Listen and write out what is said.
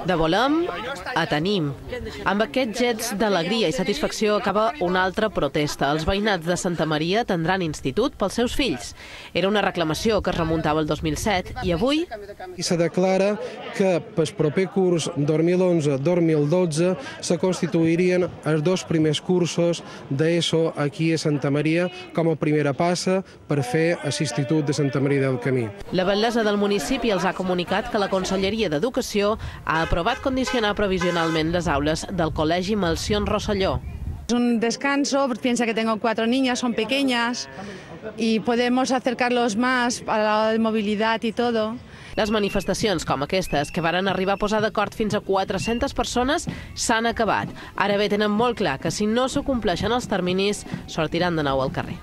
De volem a tenim. Amb aquests jets d'alegria i satisfacció acaba una altra protesta. Els veïnats de Santa Maria tindran institut pels seus fills. Era una reclamació que es remuntava al 2007 i avui se declara que pel proper curs 2011-2012 se constituirien els dos primers cursos d'ESO aquí a Santa Maria com a primera passa per fer l'Institut de Santa Maria del Camí. La batllessa del municipi els ha comunicat que la Conselleria d'Educació ha aprovat condicionar provisionalment les aules del Col·legi Melcion Rosselló. Es un descanso, piensa que tengo 4 niñas, son pequeñas y podemos acercarlos más a la hora de movilidad y todo. Les manifestacions com aquestes, que varen arribar a posar d'acord fins a 400 persones, s'han acabat. Ara bé, tenen molt clar que si no s'acompleixen els terminis, sortiran de nou al carrer.